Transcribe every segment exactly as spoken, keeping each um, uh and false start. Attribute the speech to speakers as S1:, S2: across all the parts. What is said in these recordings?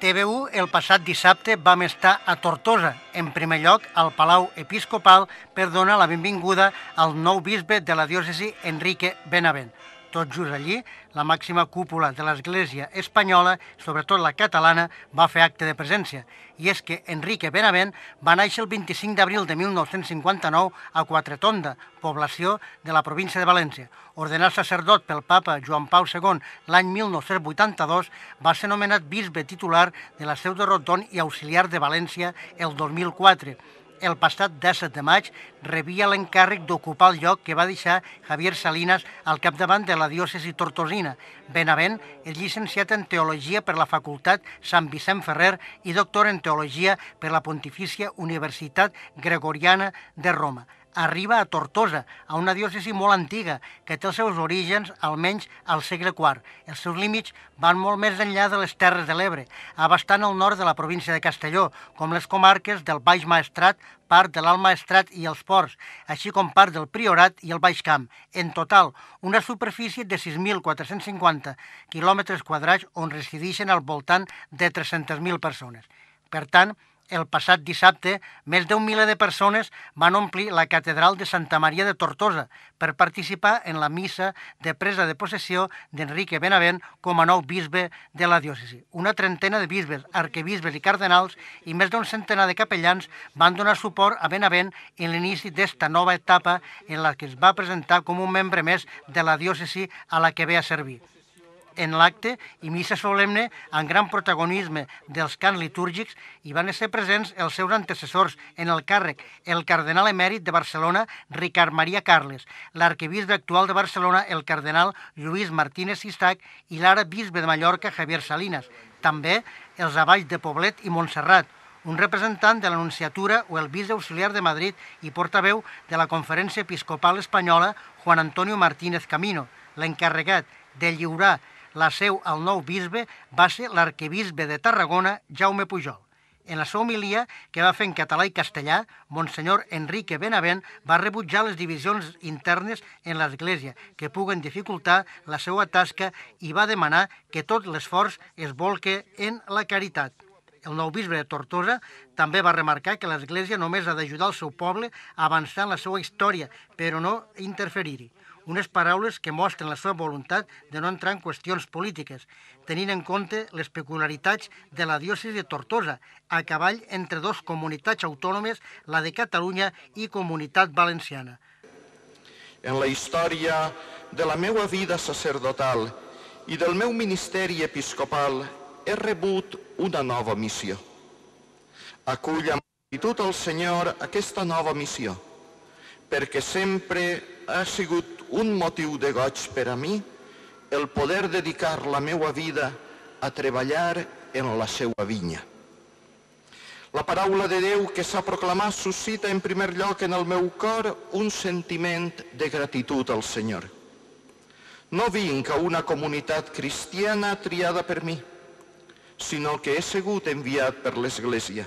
S1: T V u el passat dissabte vam estar a Tortosa, en primer lloc al Palau Episcopal per donar la benvinguda al nou bisbe de la diòcesi Enrique Benavent. Tot just allí, la màxima cúpula de l'Església espanyola, sobretot la catalana, va fer acte de presència. I és que Enrique Benavent va néixer el vint-i-cinc d'abril de mil nou-cents cinquanta-nou a Quatretonda, població de la província de València. Ordenat sacerdot pel papa Joan Pau segon l'any mil nou-cents vuitanta-dos, va ser nomenat bisbe titular de la Seu de Rotón i auxiliar de València el dos mil quatre. El passat disset de maig rebia l'encàrrec d'ocupar el lloc que va deixar Javier Salinas al capdavant de la diòcesi tortosina. Benavent és llicenciat en Teologia per la Facultat Sant Vicent Ferrer i doctor en Teologia per la Pontifícia Universitat Gregoriana de Roma. Arriba a Tortosa, a una diòcesi molt antiga, que té els seus orígens almenys al segle quart. Els seus límits van molt més enllà de les Terres de l'Ebre, abastant el nord de la província de Castelló, com les comarques del Baix Maestrat, part de l'Alt Maestrat i els Ports, així com part del Priorat i el Baix Camp. En total, una superfície de sis mil quatre-cents cinquanta quilòmetres quadrats on resideixen al voltant de tres-centes mil persones. Per tant, el passat dissabte, més d'un miler de persones van omplir la catedral de Santa Maria de Tortosa per participar en la missa de presa de possessió d'Enrique Benavent com a nou bisbe de la diòcesi. Una trentena de bisbes, arquebisbes i cardenals i més d'un centenar de capellans van donar suport a Benavent en l'inici d'esta nova etapa en la que es va presentar com un membre més de la diòcesi a la que ve a servir. En l'acte i missa solemne, amb gran protagonisme dels cants litúrgics, hi van ser presents els seus antecessors en el càrrec, el cardenal emèrit de Barcelona, Ricard Maria Carles, l'arquebisbe actual de Barcelona, el cardenal Lluís Martínez Sistac, i l'ara bisbe de Mallorca, Javier Salinas. També els avalls de Poblet i Montserrat, un representant de l'Anunciatura o el bisbe auxiliar de Madrid i portaveu de la Conferència Episcopal Espanyola, Juan Antonio Martínez Camino. L'encarregat de lliurar la seu al nou bisbe va ser l'arquebisbe de Tarragona, Jaume Pujol. En la seva homilia, que va fer en català i castellà, Monsenyor Enrique Benavent va rebutjar les divisions internes en l'Església que puguen dificultar la seva tasca i va demanar que tot l'esforç es bolque en la caritat. El nou bisbe de Tortosa també va remarcar que l'Església només ha d'ajudar el seu poble a avançar en la seva història, però no interferir-hi. Unes paraules que mostren la seva voluntat de no entrar en qüestions polítiques, tenint en compte les peculiaritats de la diòcesi de Tortosa, a cavall entre dos comunitats autònomes, la de Catalunya i Comunitat Valenciana.
S2: En la història de la meva vida sacerdotal i del meu ministeri episcopal he rebut una nova missió. Acull amb gratitud al Senyor aquesta nova missió, perquè sempre ha sigut un motiu de goig per a mi el poder dedicar la meva vida a treballar en la seva vinya. La paraula de Déu que s'ha proclamat suscita en primer lloc en el meu cor un sentiment de gratitud al Senyor. No vinc a una comunitat cristiana triada per mi, sinó que he sigut enviat per l'Església.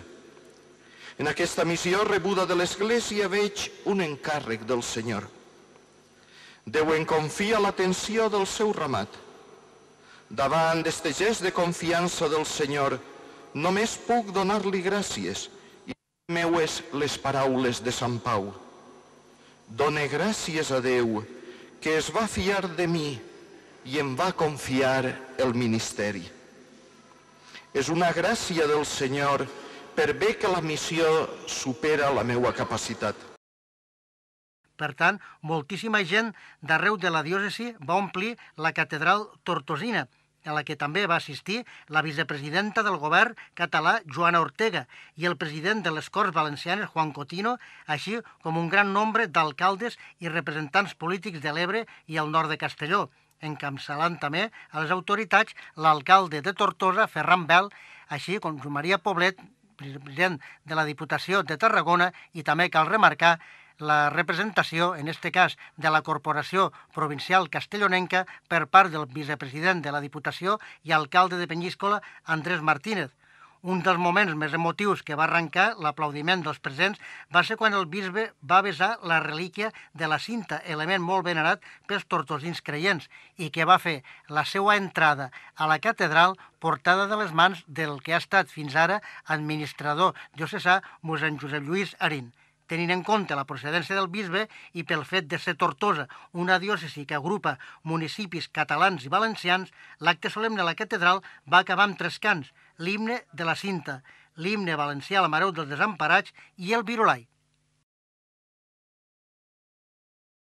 S2: En aquesta missió rebuda de l'Església veig un encàrrec del Senyor. Déu em confia l'atenció del seu ramat. Davant d'este gest de confiança del Senyor, només puc donar-li gràcies i meues les paraules de Sant Pau. Done gràcies a Déu que es va fiar de mi i em va confiar el ministeri. És una gràcia del Senyor per bé que la missió supera la meva capacitat.
S1: Per tant, moltíssima gent d'arreu de la diòcesi va omplir la catedral tortosina, a la que també va assistir la vicepresidenta del govern català, Joana Ortega, i el president de les Corts Valencianes, Juan Cotino, així com un gran nombre d'alcaldes i representants polítics de l'Ebre i el nord de Castelló, encapçalant també a les autoritats l'alcalde de Tortosa, Ferran Bel, així com Joan Maria Poblet, president de la Diputació de Tarragona, i també cal remarcar la representació, en aquest cas, de la Corporació Provincial Castellonenca per part del vicepresident de la Diputació i alcalde de Penyíscola, Andrés Martínez. Un dels moments més emotius que va arrencar l'aplaudiment dels presents va ser quan el bisbe va besar la relíquia de la cinta, element molt venerat pels tortosins creients, i que va fer la seva entrada a la catedral portada de les mans del que ha estat fins ara administrador diocesà mossèn Josep Lluís Arín. Tenint en compte la procedència del bisbe i pel fet de ser Tortosa, una diòcesi que agrupa municipis catalans i valencians, l'acte solemne a la catedral va acabar amb tres cants: l'himne de la cinta, l'himne valencià a la Mareu dels Desemparats i el Virolai.